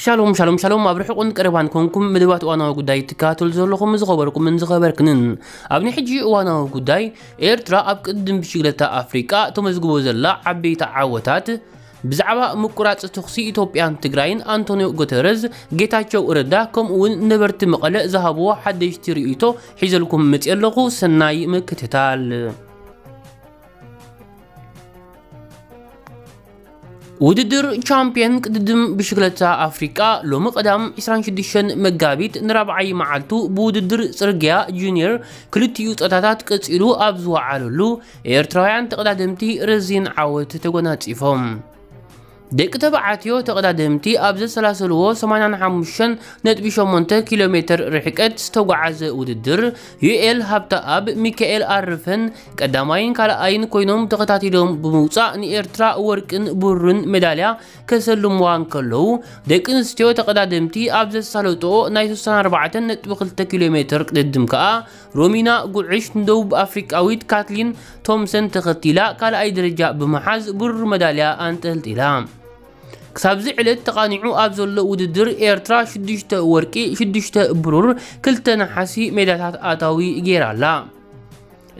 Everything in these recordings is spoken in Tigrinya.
ሻሎም ሻሎም ሻሎም፣ ኣብ ርሑቕን ቀረባን ኮንኩም መደባት እዋናዊ ጉዳይ ትከታተሉ ዘለኹም ዝኸበርኩምን ዝኸበርክንን፣ ኣብ ናይ ሕጂ እዋናዊ ጉዳይ፣ ኤርትራ ኣብ ቅድድም ብሽግለታ ኣፍሪቃ ተመዝግቦ ዘላ ዓበይቲ ዓወታት፣ ብዛዕባ ምቁራጽ ተኹሲ ኢትዮጵያን ትግራይን ኣንቶኒዮ ጉተረዝ፣ ጌታቸው ረዳ ከምኡ እውን ነበርቲ መቐለ ዝሃብዎ ሓደሽቲ ርእይቶ ሒዘልኩም መጽእ ኣለኹ። ሰናይ ምክትታል። ውድድር ቻምፒየን ቅድድም ብሽክለታ ኣፍሪቃ ሎሚ ቀዳም ዕስራን ሽዱሽተን መጋቢት ንራብዓይ መዓልቱ ብውድድር ጽርግያ ጁኒየር ክልቲኡ ጾታታት ቀጺሉ ኣብ ዝወዓለሉ፣ ኤርትራውያን ተቐዳደምቲ ረዚን ዓወት ተጎናጺፎም። ደቂ ተባዕትዮ ተቐዳደምቲ ኣብ ዘሰላሰልዎ ሰማንያን ሓሙሽተን ነጥቢ ሸሞንተ ኪሎ ሜትር ርሕቀት ዝተጓዓዘ ውድድር፣ ዩኤል ሃብተኣብ፣ ሚካኤል ኣርፈን ቀዳማይን ካልኣይን ኮይኖም ተኸታቲሎም ብምውጻእ ንኤርትራ ወርቅን ብሩርን ሜዳልያ ከሰልምዋ እንከለዉ፣ ደቂ ኣንስትዮ ተቐዳደምቲ ኣብ ዘሳለጥኦ ናይ ስሳን ኣርባዕተን ነጥቢ ክልተ ኪሎ ሜትር ቅድድም ከኣ ሮሚና ጉዕሽ ንደቡብ ኣፍሪቃዊት ካትሊን ቶምሰን ተኸቲላ ካልኣይ ደረጃ ብምሓዝ ብሩር መዳልያ ኣንጠልጢላ። ክሳብዚ ዕለት ተቓኒዑ ኣብ ዘሎ ውድድር ኤርትራ ሽዱሽተ ወርቂ፣ ሽዱሽተ ብሩር፣ ክልተ ነሓሲ ሜዳታት ኣታዊ ገይራ ኣላ።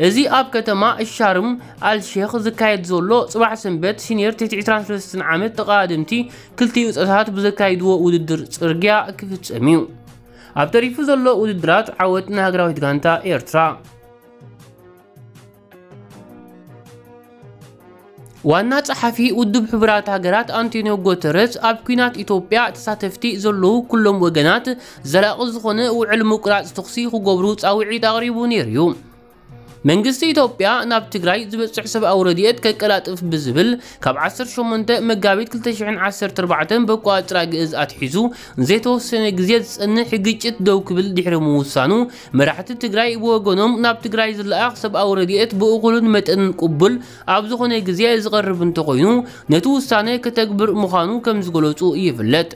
እዚ ኣብ ከተማ ሻርም ኣልሼኽ ዝካየድ ዘሎ ጽባሕ ሰንበት ሲኒየር ትሕቲ ዕስራን ሰለስተን ዓመት ተቐዳደምቲ ክልቲኡ ጾታታት ብዘካይድዎ ውድድር ጽርግያ ክፍጸም እዩ። ኣብ ተሪፉ ዘሎ ውድድራት ዓወት ንሃገራዊት ጋንታ ኤርትራ። ዋና ጸሓፊ ውድብ ሕቡራት ሃገራት ኣንቶኒዮ ጉተረዝ ኣብ ኲናት ኢትዮጵያ ተሳተፍቲ ዘለዉ ኩሎም ወገናት ዘላቒ ዝኾነ ውዕል ምቁራጽ ተኹሲ ክገብሩ ጻውዒት ኣቕሪቡ ነይሩ እዩ። መንግስቲ ኢትዮጵያ ናብ ትግራይ ዝበጽሕ ሰብኣዊ ረድኤት ከቀላጥፍ ብዝብል ካብ ዓሰርተ ሸሞንተ መጋቢት ክልተ ሽሕን ዓሰርተ ኣርባዕተን በቋጽራ ግእዝ ኣትሒዙ ንዘይተወሰነ ግዜ ዝጸንሕ ግጭት ደው ክብል ድሕሪ ምውሳኑ፣ መራሕቲ ትግራይ ብወገኖም ናብ ትግራይ ዝለኣኽ ሰብኣዊ ረድኤት ብእኹልን መጠንን ቅቡል ኣብ ዝኾነ ግዜ ዝቐርብ እንተኾይኑ፣ ነቲ ውሳነ ከተግብር ምዃኑ ከም ዝገለጹ ይፍለጥ።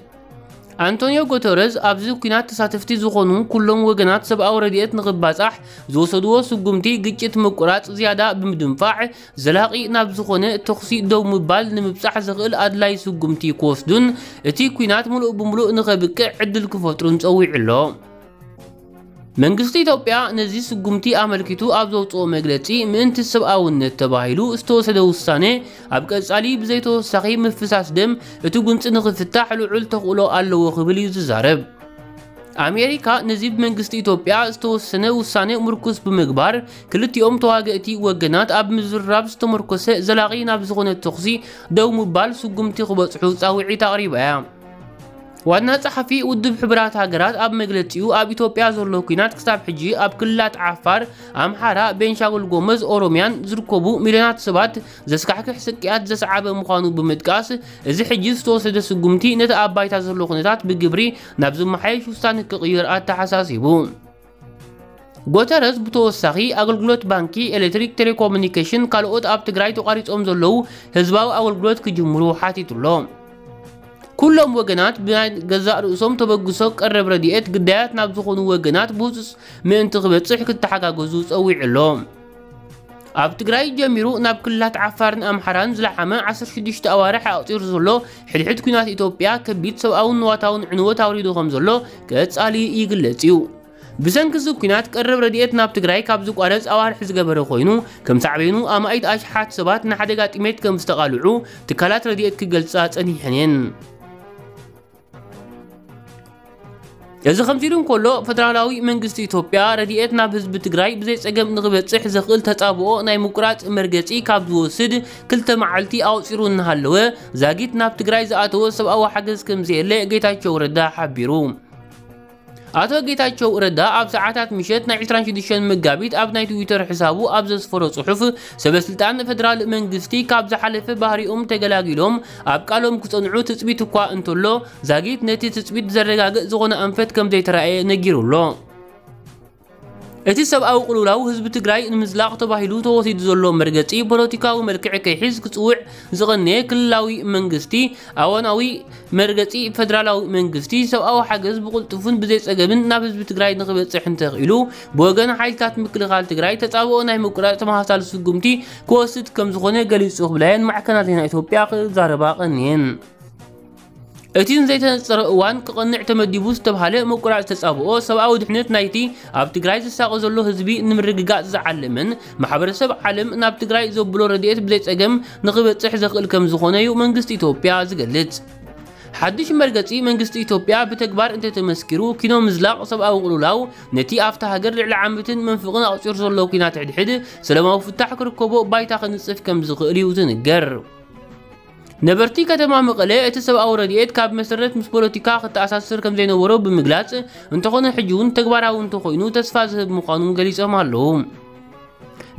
ኣንቶኒዮ ጉተረዝ ኣብዚ ኲናት ተሳተፍቲ ዝኾኑ ኩሎም ወገናት ሰብኣዊ ረድኤት ንኽባጻሕ ዝወሰድዎ ስጉምቲ ግጭት ምቁራጽ ዝያዳ ብምድንፋዕ፣ ዘላቒ ናብ ዝኾነ ተኹሲ ደው ምባል ንምብጻሕ ዘኽእል ኣድላይ ስጉምቲ ክወስዱን እቲ ኲናት ምሉእ ብምሉእ ንኸብቅዕ ዕድል ክፈጥሩን ጸዊዑ ኣሎ። መንግስቲ ኢትዮጵያ ነዚ ስጉምቲ ኣመልኪቱ ኣብ ዘውጽኦ መግለጺ፣ ምእንቲ ሰብኣውነት ተባሂሉ ዝተወሰደ ውሳነ፣ ኣብ ቀጻሊ ብዘይተወሳኺ ምፍሳስ ደም እቲ ጉንጺ ንኽፍታሕ ልዑል ተኽእሎ ኣለዎ ክብል እዩ ዝዛረብ። ኣሜሪካ ነዚ ብመንግስቲ ኢትዮጵያ ዝተወሰነ ውሳነ ምርኩስ ብምግባር፣ ክልቲኦም ተዋገእቲ ወገናት ኣብ ምዝርራብ ዝተመርኮሰ ዘላቒ ናብ ዝኾነ ተኹሲ ደው ምባል ስጉምቲ ክበጽሑ ጻውዒት ኣቕሪባ እያ። ዋና ጸሓፊ ውድብ ሕቡራት ሃገራት ኣብ መግለጺኡ፣ ኣብ ኢትዮጵያ ዘሎ ኲናት ክሳብ ሕጂ ኣብ ክልላት ዓፋር፣ ኣምሓራ፣ ቤንሻንጉል ጎመዝ፣ ኦሮሚያን ዝርከቡ ሚልዮናት ሰባት ዘስካሕክሕ ስቅያት ዘስዓበ ምዃኑ ብምጥቃስ፣ እዚ ሕጂ ዝተወሰደ ስጉምቲ ነቲ ኣብ ባይታ ዘሎ ኩነታት ብግብሪ ናብ ዝመሓየሽ ውሳነ ክቕይር ኣተሓሳሲቡ። ጉተረዝ ብተወሳኺ፣ ኣገልግሎት ባንኪ፣ ኤሌክትሪክ፣ ቴሌኮሙኒኬሽን ካልኦት ኣብ ትግራይ ተቋሪጾም ዘለዉ ህዝባዊ ኣገልግሎት ክጅምሩ ሓቲቱ ኣሎ። ኩሎም ወገናት ብናይ ገዛእ ርእሶም ተበግሶ ቀረብ ረድኤት ግዳያት ናብ ዝኾኑ ወገናት ብህጹጽ ምእንቲ ክበጽሕ ክተሓጋገዙ ጸዊዑ ኣሎ። ኣብ ትግራይ ጀሚሩ ናብ ክልላት ዓፋርን ኣምሓራን ዝለሓመ ዓሰርተ ሽዱሽተ ኣዋርሕ ኣቑጺሩ ዘሎ ሕድሕድ ኲናት ኢትዮጵያ ከቢድ ሰብኣውን ንዋታውን ዕንወት ኣውሪዱ ከም ዘሎ ቀጻሊ ይግለጽ እዩ። ብሰንኪ እዚ ኲናት ቀረብ ረድኤት ናብ ትግራይ ካብ ዝቋረጽ ኣዋርሕ ዝገበረ ኮይኑ፣ ከም ሳዕቤኑ ኣማኢት ኣሽሓት ሰባት ንሓደጋ ጥሜት ከም ዝተቓልዑ ትካላት ረድኤት ክገልጻ ጸኒሐን እየን። እዚ ከምዚ ኢሉ እንከሎ፣ ፈደራላዊ መንግስቲ ኢትዮጵያ ረድኤት ናብ ህዝቢ ትግራይ ብዘይ ጸገም ንኽበጽሕ ዘኽእል ተጻብኦ ናይ ምቁራጽ መርገጺ ካብ ዝወስድ ክልተ መዓልቲ ኣቑጺሩ እናሃለወ፣ ዛጊት ናብ ትግራይ ዝኣተወ ሰብኣዊ ሓገዝ ከም ዘየለ ጌታቸው ረዳ ሓቢሩ። ኣቶ ጌታቸው ረዳ ኣብ ሰዓታት ምሸት ናይ ዕስራን ሽዱሽተን መጋቢት ኣብ ናይ ትዊተር ሕሳቡ ኣብ ዘስፈሮ ጽሑፍ፣ ሰበስልጣን ፈደራል መንግስቲ ካብ ዝሓለፈ ባህሪኦም ተገላጊሎም ኣብ ቃሎም ክጸንዑ ትጽቢት እኳ እንተሎ፣ ዛጊት ነቲ ትጽቢት ዘረጋግእ ዝኾነ ኣንፈት ከም ዘይተራእየ ነጊሩ ኣሎ። እቲ ሰብኣዊ ቅልውላው ህዝቢ ትግራይ ንምዝላቕ ተባሂሉ ተወሲዱ ዘሎ መርገጺ ፖለቲካዊ መልክዕ ከይሕዝ ክጽውዕ ዝቐነየ ክልላዊ መንግስቲ፣ ኣዋናዊ መርገጺ ፈደራላዊ መንግስቲ ሰብኣዊ ሓገዝ ብቕልጡፍን ብዘይ ጸገምን ናብ ህዝቢ ትግራይ ንኽበጽሕ እንተኽኢሉ፣ ብወገን ሓይልታት ምክልኻል ትግራይ ተጻብኦ ናይ ምቁራጽ ተመሳሳሊ ስጉምቲ ክወስድ ከም ዝኾነ ገሊጹ ክብላ እየን ማዕከናት ዜና ኢትዮጵያ ክዛረባ ቀንየን። እቲ ንዘይተነጸረ እዋን ክቐንዕ ተመዲቡ ዝተብሃለ ምቁራጽ ተጻብኦ ሰብኣዊ ድሕነት ናይቲ ኣብ ትግራይ ዝሳቐ ዘሎ ህዝቢ ንምርግጋጽ ዝዓለመን ማሕበረሰብ ዓለም ናብ ትግራይ ዘብሎ ረድኤት ብዘይጸገም ንኽበጽሕ ዘኽእል ከም ዝኾነ እዩ መንግስቲ ኢትዮጵያ ዝገልጽ። ሓድሽ መርገጺ መንግስቲ ኢትዮጵያ ብተግባር እንተተመስኪሩ፣ ኪኖ ምዝላቕ ሰብኣዊ ቅልውላው ነቲ ኣብታ ሃገር ልዕሊ ዓመትን መንፍቕን ኣቑጺሩ ዘሎ ኲናት ሕድሕድ ሰላማዊ ፍታሕ ክርከቦ ባይታ ክንጽፍ ከም ዝኽእል እዩ ዝንገር። ነበርቲ ከተማ መቐለ እቲ ሰብኣዊ ረድኤት ካብ መሰረት ምስ ፖለቲካ ክተኣሳሰር ከም ዘይነበሮ ብምግላጽ፣ እንተኾነ ሕጂ እውን ተግባራዊ እንተኾይኑ ተስፋ ዝህብ ምዃኑ ገሊጾም ኣለዉ።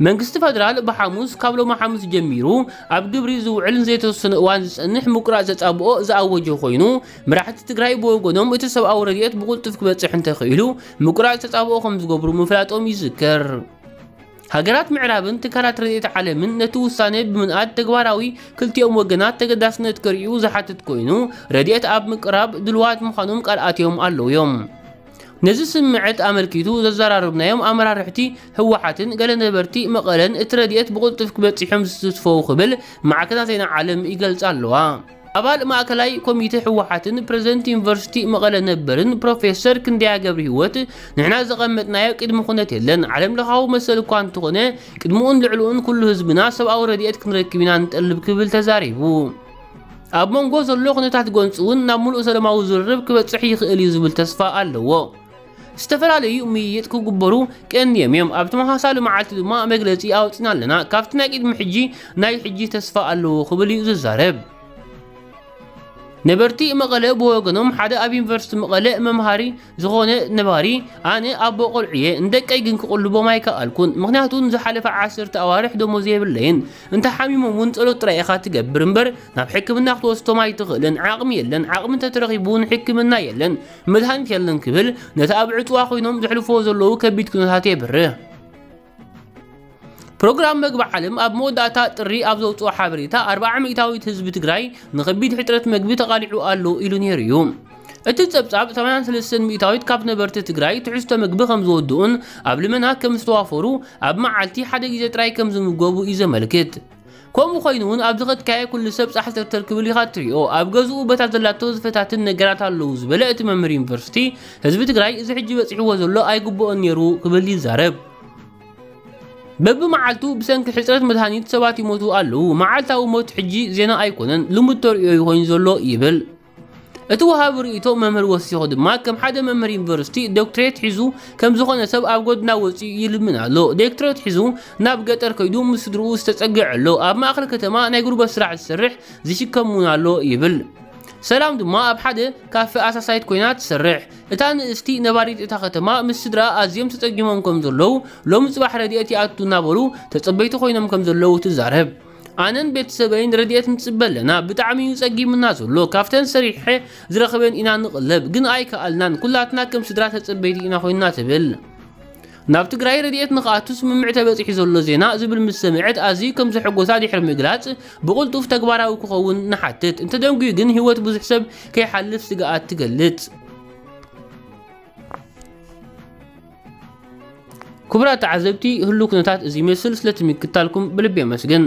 መንግስቲ ፈደራል ብሓሙስ፣ ካብ ሎሚ ሓሙስ ጀሚሩ ኣብ ግብሪ ዝውዕል ንዘይተወሰነ እዋን ዝጸንሕ ምቁራጽ ተጻብኦ ዝኣወጀ ኮይኑ፣ መራሕቲ ትግራይ ብወገኖም እቲ ሰብኣዊ ረድኤት ብቕልጡፍ ክበጽሕ እንተኽኢሉ ምቁራጽ ተጻብኦ ከም ዝገብሩ ምፍላጦም ይዝከር። ሃገራት ምዕራብን ትካላት ረድኤት ዓለምን ነቲ ውሳነ ብምንኣድ ተግባራዊ ክልቲኦም ወገናት ተገዳስነት ከርእዩ ዝሓትት ኮይኑ፣ ረድኤት ኣብ ምቅራብ ድልዋት ምዃኖም ቃል ኣትዮም ኣለዉ እዮም። ነዚ ስምዕት ኣመልኪቱ ዘዘራረብናዮም ኣመራርሕቲ ህወሓትን ገለ ነበርቲ መቐለን እቲ ረድኤት ብቕልጡፍ ክበጽሖም ዝትስፈው ክብል ማዕከናት ዜና ዓለም ይገልጻ ኣለዋ። ኣባል ማእከላይ ኮሚቴ ህወሓትን ፕረዚደንት ዩኒቨርሲቲ መቐለ ነበርን ፕሮፌሰር ክንደያ ገብረ ህይወት፣ ንሕና ዘቐመጥናዮ ቅድሚ ኩነት የለን፣ ዓለም ለኻዊ መሰል እኳ እንተኾነ ቅድምኡን ልዕልኡን ኩሉ ህዝብና ሰብኣዊ ረድኤት ክንረክብ ኢና ንጠልብ ክብል ተዛሪቡ። ኣብ መንጎ ዘሎ ኩነታት ጎንፂ እውን ናብ ሙሉእ ሰላማዊ ዝርርብ ክበፅሕ ይኽእል እዩ ዝብል ተስፋ ኣለዎ። ዝተፈላለዩ ምይይጥ ክግበሩ ቀንዮም እዮም። ኣብ ተመሳሳሊ መዓልቲ ድማ መግለፂ ኣውፂና ኣለና። ካብቲ ናይ ቅድሚ ሕጂ ናይ ሕጂ ተስፋ ኣለዎ ክብል እዩ ዝዛረብ። ነበርቲ መቐለ ብወገኖም ሓደ ኣብ ዩኒቨርሲቲ መቐለ መምሃሪ ዝኾነ ነባሪ፣ ኣነ ኣቦ ቆልዑ እየ፣ ንደቀይ ግን ክቕልቦም ኣይከኣልኩን። ምኽንያቱ ንዝሓለፈ ዓሰርተ ኣዋርሕ ደሞዝ የብለይን። እንተ ሓሚሞም እውን ጸሎት ጥራይ ኢኻ ትገብር እምበር ናብ ሕክምና ክትወስዶም ኣይትኽእልን። ዓቕሚ የለን። ዓቕሚ እንተተረኺቡ እውን ሕክምና የለን፣ መድሃኒት የለን ክብል ነቲ ኣብ ዕጽዋ ኮይኖም ዘሕልፎ ዘለዉ ከቢድ ኩነታት የብርህ። ፕሮግራም መግቢ ዓለም ኣብ መወዳእታ ጥሪ ኣብ ዘውፅኦ ሓበሬታ ኣርብዓ ሚእታዊት ህዝቢ ትግራይ ንከቢድ ሕፅረት መግቢ ተቓሊዑ ኣሎ ኢሉ ነይሩ እዩ። እቲ ጸብጻብ ሰማንያን ሰለስተን ሚእታዊት ካብ ነበርቲ ትግራይ ትሕዝቶ መግቢ ከም ዝወድኡን ኣብ ልመና ከም ዝተዋፈሩ ኣብ መዓልቲ ሓደ ግዜ ጥራይ ከም ዝምገቡ እዩ ዘመልክት። ከምኡ ኮይኑ እውን ኣብ ዝኸድካዮ ኩሉ ሰብ ጻሕ ተርተር ክብል ኢኻ ትሪኦ። ኣብ ገዝኡ በታ ዘላቶ ዝፈታትን ነገራት ኣለዉ ዝበለ እቲ መምህር ዩኒቨርሲቲ፣ ህዝቢ ትግራይ እዚ ሕጂ በጺሕዎ ዘሎ ኣይግብኦን ነይሩ ክብል ይዛረብ። በብመዓልቱ ብሰንኪ ሕፅረት መድሃኒት ሰባት ይሞቱ ኣለዉ። መዓልታዊ ሞት ሕጂ ዜና ኣይኮነን፣ ልሙድ ተርእዮ እዩ ኮይኑ ዘሎ ይብል። እቲ ወሃቢ ርእይቶ መምህር ወሲኹ ድማ ከም ሓደ መምህር ዩኒቨርሲቲ ዶክትሬት ሒዙ ከም ዝኾነ ሰብ ኣብ ጎድና ወፂኡ ይልምን ኣሎ። ዶክትሬት ሒዙ ናብ ገጠር ከይዱ ምስ ስድርኡ ዝተፀግዐ ኣሎ። ኣብ ማእኸል ከተማ ናይ ጉልበት ስራሕ ዝሰርሕ ዝሽከም እውን ኣሎ ይብል። ሰላም ድማ ኣብ ሓደ ካፈ ኣሳሳይት ኮይና ትሰርሕ። እታ ንእስቲ ነባሪት እታ ከተማ ምስ ስድራ ኣዝዮም ተፀጊሞም ከም ዘለዉ፣ ሎሚ ፅባሕ ረድኤት ይኣቱ እናበሉ ተፀበይቲ ኮይኖም ከም ዘለዉ ትዛረብ። ኣነን ቤተሰበይን ረድኤት ንፅበ ኣለና፣ ብጣዕሚ እዩ ፀጊምና ዘሎ። ካብተን ሰሪሐ ዝረኽበን ኢና ንቕለብ፣ ግን ኣይከኣልናን። ኩላትና ከም ስድራ ተፀበይቲ ኢና ኮይንና ትብል። ናብ ትግራይ ረድኤት ንኽኣቱ ስምምዕ ተበፂሑ ዘሎ ዜና ዝብል ምስ ሰምዐት ኣዝዩ ከም ዘሐጎሳ ድሕሪ ምግላፅ፣ ብቕልጡፍ ተግባራዊ ክኸውን ንሓትት። እንተደንጉዩ ግን ህይወት ብዙሕ ሰብ ከይሓልፍ ስግኣት ትገልጽ። ክቡራት ተዓዘብቲ፣ ህሉ ኩነታት እዚ ይመስል። ስለቲ ምክታልኩም ብልቢ የመስግን።